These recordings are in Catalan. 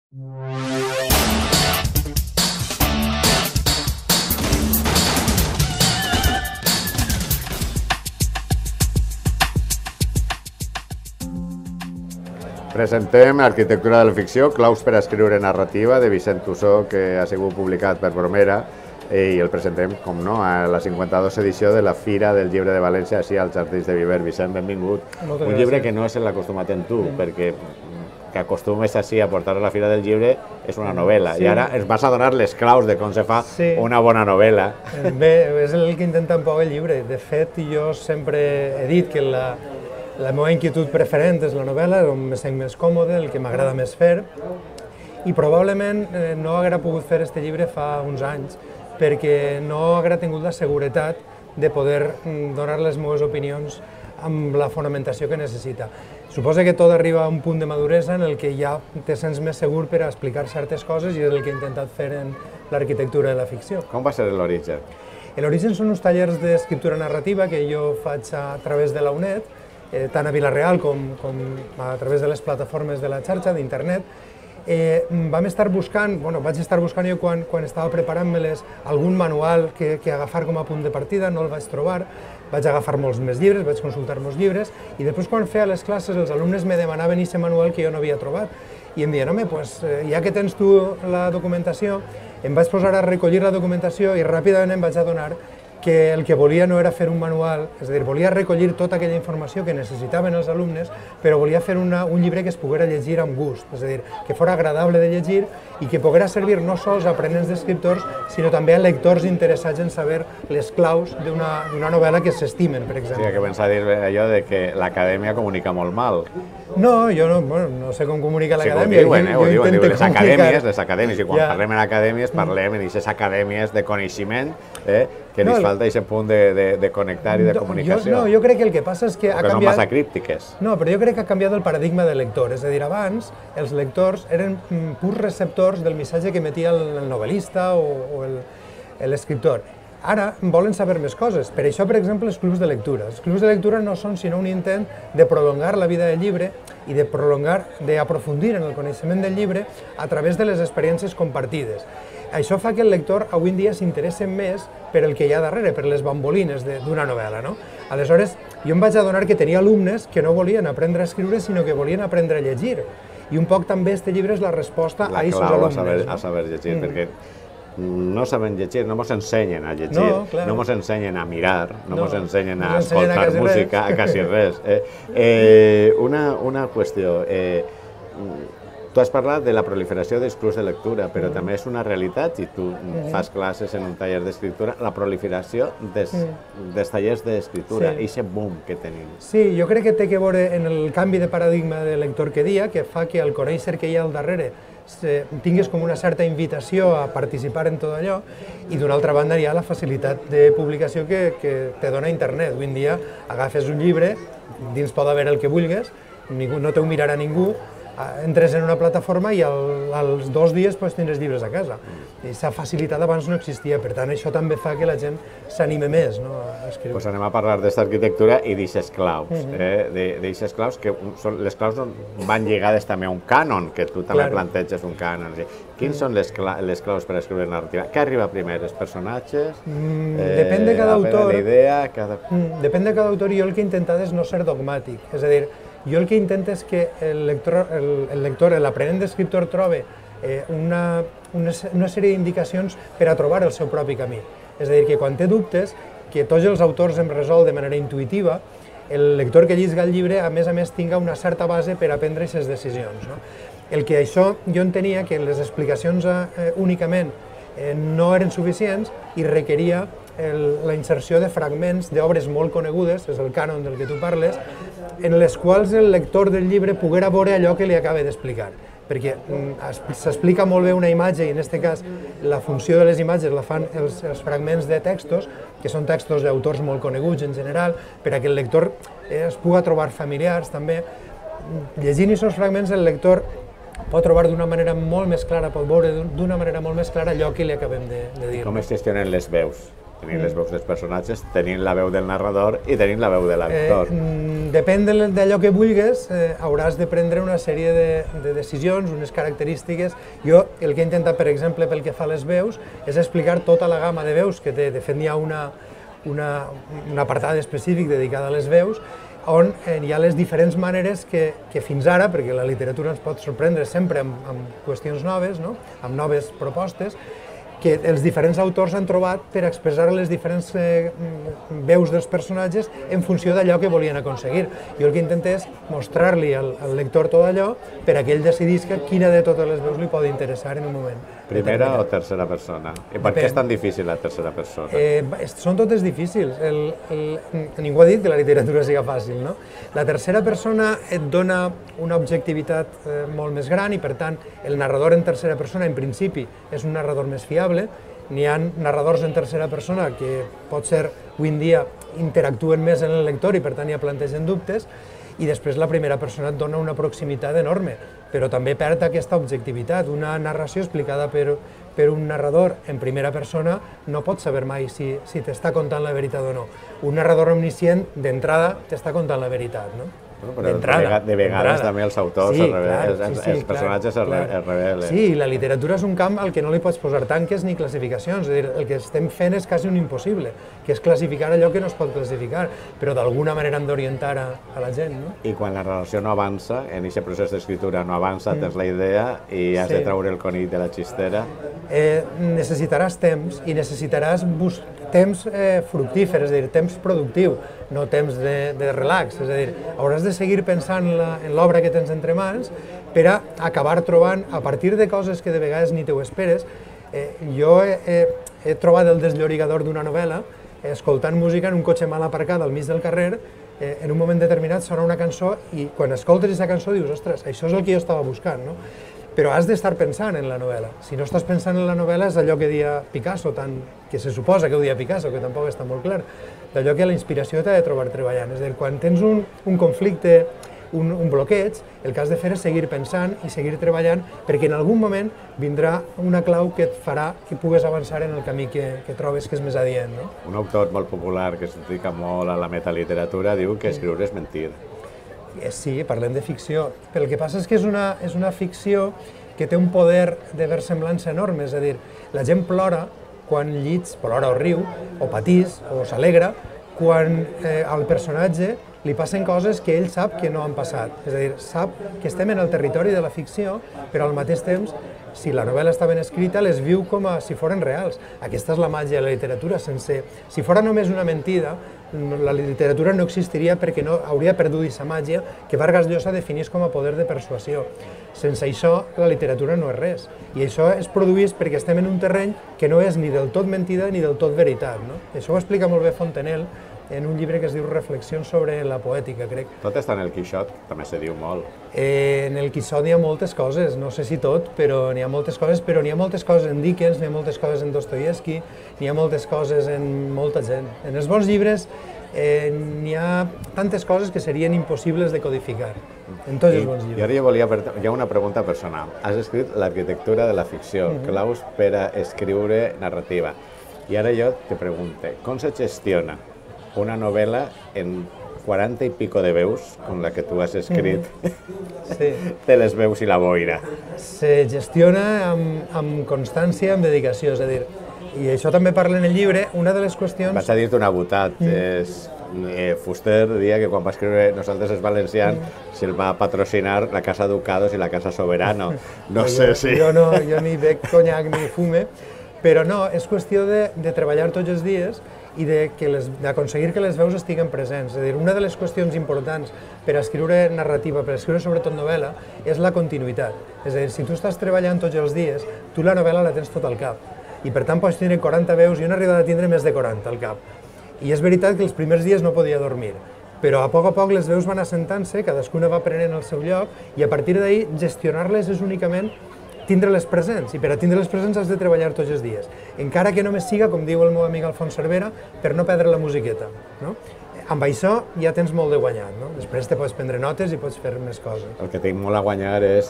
Presentem Arquitectura de la ficció, claus per a escriure narrativa, de Vicent Tussó, que ha sigut publicat per Bromera, i el presentem, com no, a la 52 edició de la Fira del Llibre de València, així als Jardins de Viver. Vicent, benvingut. Un llibre que no és l'acostumat en tu, perquè que acostumes així a portar a la Fira del Llibre és una novel·la, i ara ens vas a donar les claus de com se fa una bona novel·la. Bé, és el que intenta un poc el llibre. De fet, jo sempre he dit que la meva inquietud preferent és la novel·la, on me sent més còmode, el que m'agrada més fer, i probablement no haguera pogut fer aquest llibre fa uns anys, perquè no haguera tingut la seguretat de poder donar les meves opinions amb la fonamentació que necessita. Suposa que tot arriba a un punt de maduresa en el que ja te sents més segur per a explicar certes coses, i és el que he intentat fer en l'arquitectura de la ficció. Com va ser l'origen? L'origen són uns tallers d'escriptura narrativa que jo faig a través de la UNED, tant a Vila-real com a través de les plataformes de la xarxa, d'internet. Vaig estar buscant jo quan estava preparant-me algun manual que agafar com a punt de partida, no el vaig trobar, vaig agafar molts més llibres, vaig consultar molts llibres, i després quan feia les classes els alumnes me demanaven aquest manual que jo no havia trobat, i em deien, home, ja que tens tu la documentació, em vaig posar a recollir la documentació i ràpidament em vaig adonar que el que volia no era fer un manual, és a dir, volia recollir tota aquella informació que necessitaven els alumnes, però volia fer un llibre que es poguera llegir amb gust, és a dir, que fos agradable de llegir i que poguera servir no sols a aprenents d'escriptors, sinó també a lectors interessats en saber les claus d'una novel·la que s'estimen, per exemple. Sí, que pensa dir allò de que l'acadèmia comunica molt mal. No, jo no sé com comunica l'acadèmia. Ho diuen, les acadèmies, i quan parlem en acadèmies parlem en aquestes acadèmies de coneixement, que ens falta aquest punt de connectar i de comunicació. No, jo crec que el que passa és que ha canviat... Que són massa críptiques. No, però jo crec que ha canviat el paradigma del lector. És a dir, abans els lectors eren purs receptors del missatge que emetia el novel·lista o l'escriptor. Ara volen saber més coses. Per això, per exemple, els clubs de lectura. Els clubs de lectura no són sinó un intent de prolongar la vida del llibre i d'aprofundir en el coneixement del llibre a través de les experiències compartides. Això fa que el lector avui en dia s'interessi més per el que hi ha darrere, per les bambolines d'una novel·la. Aleshores, jo em vaig adonar que tenia alumnes que no volien aprendre a escriure, sinó que volien aprendre a llegir. I un poc també aquest llibre és la resposta a aquests alumnes. La clau a saber llegir, perquè no saben llegir, no ens ensenyen a llegir, no ens ensenyen a mirar, no ens ensenyen a escoltar música, a quasi res. Una qüestió. Tu has parlat de la proliferació dels clubs de lectura, però també és una realitat, i tu fas classes en un taller d'escriptura, la proliferació dels tallers d'escriptura, i aquest boom que tenim. Sí, jo crec que té a veure en el canvi de paradigma de lector que dia, que fa que el conèixer que hi ha al darrere tinguis com una certa invitació a participar en tot allò, i d'una altra banda hi ha la facilitat de publicació que te dona internet. Avui en dia agafes un llibre, dins pot haver el que vulguis, no t'ho mirarà ningú, entres en una plataforma i als 2 dies tindràs llibres a casa. Aquesta facilitat abans no existia, per tant això també fa que la gent s'anime més a escriure. Doncs anem a parlar d'aquesta arquitectura i d'aixes claus, d'aixes claus que les claus van lligades també a un cànon, que tu també planteges un cànon. Quins són les claus per escriure narrativa? Què arriba primer, els personatges? Depèn de cada autor. La idea? Depèn de cada autor, i jo el que he intentat és no ser dogmàtic, és a dir, jo el que intento és que el lector, l'aprenent d'escriptor, trobi una sèrie d'indicacions per a trobar el seu propi camí. És a dir, que quan té dubtes, que tots els autors em resol de manera intuïtiva, el lector que llisga el llibre, a més, tinga una certa base per a prendre aquestes decisions. El que això jo entenia que les explicacions únicament no eren suficients i requeria la inserció de fragments d'obres molt conegudes, és el cànon del que tu parles, en les quals el lector del llibre poguera veure allò que li acaba d'explicar. Perquè s'explica molt bé una imatge, i en aquest cas la funció de les imatges la fan els fragments de textos, que són textos d'autors molt coneguts en general, per a que el lector es pugui trobar familiars també. Llegint aquests fragments, el lector pot trobar d'una manera molt més clara, pot veure d'una manera molt més clara allò que li acabem de dir. Com es gestionen les veus? Tenint les veus dels personatges, tenint la veu del narrador i tenint la veu de l'actor. Depèn d'allò que vulguis, hauràs de prendre una sèrie de decisions, unes característiques. Jo el que he intentat, per exemple, pel que fa a les veus, és explicar tota la gamma de veus que té. De fet, hi ha un apartat específic dedicat a les veus, on hi ha les diferents maneres que fins ara, perquè la literatura ens pot sorprendre sempre amb qüestions noves, amb noves propostes, que els diferents autors han trobat per expressar les diferents veus dels personatges en funció d'allò que volien aconseguir. Jo el que intenté és mostrar-li al lector tot allò per a que ell decidisca quina de totes les veus li pot interessar en un moment. Primera o tercera persona? I per què és tan difícil la tercera persona? Són totes difícils. Ningú ha dit que la literatura sigui fàcil, no? La tercera persona et dona una objectivitat molt més gran i, per tant, el narrador en tercera persona, en principi, és un narrador més fiable. N'hi ha narradors en tercera persona que potser avui en dia interactuen més en el lector i, per tant, ja plantegen dubtes, i després la primera persona et dona una proximitat enorme, però també perd aquesta objectivitat. Una narració explicada per un narrador en primera persona no pots saber mai si t'està contant la veritat o no. Un narrador omniscient, d'entrada, t'està contant la veritat, no? Però de vegades també els autors, els personatges es revelen. Sí, la literatura és un camp al que no li pots posar tanques ni classificacions. És a dir, el que estem fent és quasi un impossible, que és classificar allò que no es pot classificar, però d'alguna manera hem d'orientar a la gent, no? I quan la relació no avança, en aquest procés d'escriptura no avança, tens la idea i has de treure el conill de la xistera. Necessitaràs temps i necessitaràs temps fructífer, és a dir, temps productiu, no temps de relax. És a dir, hauràs de seguir pensant en l'obra que tens entre mans per a acabar trobant, a partir de coses que de vegades ni t'ho esperes. Jo he trobat el desllorigador d'una novel·la escoltant música en un cotxe mal aparcat al mig del carrer. En un moment determinat sona una cançó i quan escoltes aquesta cançó dius, ostres, això és el que jo estava buscant, no? Però has d'estar pensant en la novel·la. Si no estàs pensant en la novel·la és allò que deia Picasso, que se suposa que ho deia Picasso, que tampoc està molt clar, d'allò que la inspiració t'ha de trobar treballant. És a dir, quan tens un conflicte, un bloqueig, el que has de fer és seguir pensant i seguir treballant perquè en algun moment vindrà una clau que et farà que pugues avançar en el camí que trobes que és més adient, no? Un autor molt popular que es dedica molt a la metaliteratura diu que escriure és mentir. Sí, parlem de ficció, però el que passa és que és una ficció que té un poder de versemblança enorme, és a dir, la gent plora quan plora o riu, o patís, o s'alegra, quan al personatge li passen coses que ell sap que no han passat. És a dir, sap que estem en el territori de la ficció, però al mateix temps, si la novel·la està ben escrita, les viu com si foren reals. Aquesta és la màgia de la literatura. Si fora només una mentida, la literatura no existiria perquè no hauria perdut aquesta màgia que Vargas Llosa definís com a poder de persuasió. Sense això, la literatura no és res. I això es produeix perquè estem en un terreny que no és ni del tot mentida ni del tot veritat, no? Això ho explica molt bé Fontenelle en un llibre que es diu Reflexions sobre la poètica, crec. Tot està en el Quixot, també se diu molt. En el Quixot hi ha moltes coses, no sé si tot, però n'hi ha moltes coses, en Dickens, n'hi ha moltes coses en Dostoievski, n'hi ha moltes coses en molta gent. En els bons llibres n'hi ha tantes coses que serien impossibles de codificar, en tots els bons llibres. I ara jo volia fer una pregunta personal. Has escrit l'arquitectura de la ficció, claus per a escriure narrativa. I ara jo te pregunto, com se gestiona una novel·la en 40 i pico de veus, com la que tu has escrit, de les veus i la boira? Se gestiona amb constància, amb dedicació, és a dir, i això també parla en el llibre, una de les qüestions... Vaig a dir-te una botat, Fuster deia que quan va escriure Nosaltres els valencians se'l va patrocinar la Casa Ducados i la Casa Soberano. No sé si... Jo ni bec conyac ni fume, però no, és qüestió de treballar tots els dies i d'aconseguir que les veus estiguen presents. És a dir, una de les qüestions importants per a escriure narrativa, per a escriure sobretot novel·la, és la continuïtat. És a dir, si tu estàs treballant tots els dies, tu la novel·la la tens tot al cap. I per tant pots tindre 40 veus, jo n'he arribat a tindre més de 40 al cap. I és veritat que els primers dies no podia dormir, però a poc les veus van assentant-se, cadascuna va prenent el seu lloc, i a partir d'ahir gestionar-les és únicament tindre-les presents, i per a tindre-les presents has de treballar tots els dies, encara que només siga, com diu el meu amic Alfons Cervera, per no perdre la musiqueta. Amb això ja tens molt de guanyat, després te pots prendre notes i pots fer més coses. El que tinc molt a guanyar és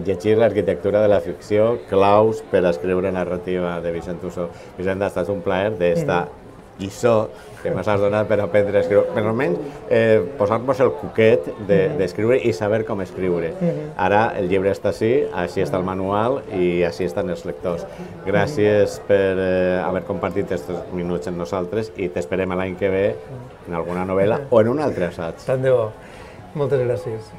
llegir l'arquitectura de la ficció, claus per a escriure narrativa de Vicent Tussó. Vicent, ha estat un plaer d'estar lliçó que ens has donat per aprendre a escriure, per almenys posar-nos el cuquet d'escriure i saber com escriure. Ara el llibre està així està el manual i així estan els lectors. Gràcies per haver compartit aquests minuts amb nosaltres i t'esperem l'any que ve en alguna novel·la o en un altre assaig. Tant de bo. Moltes gràcies.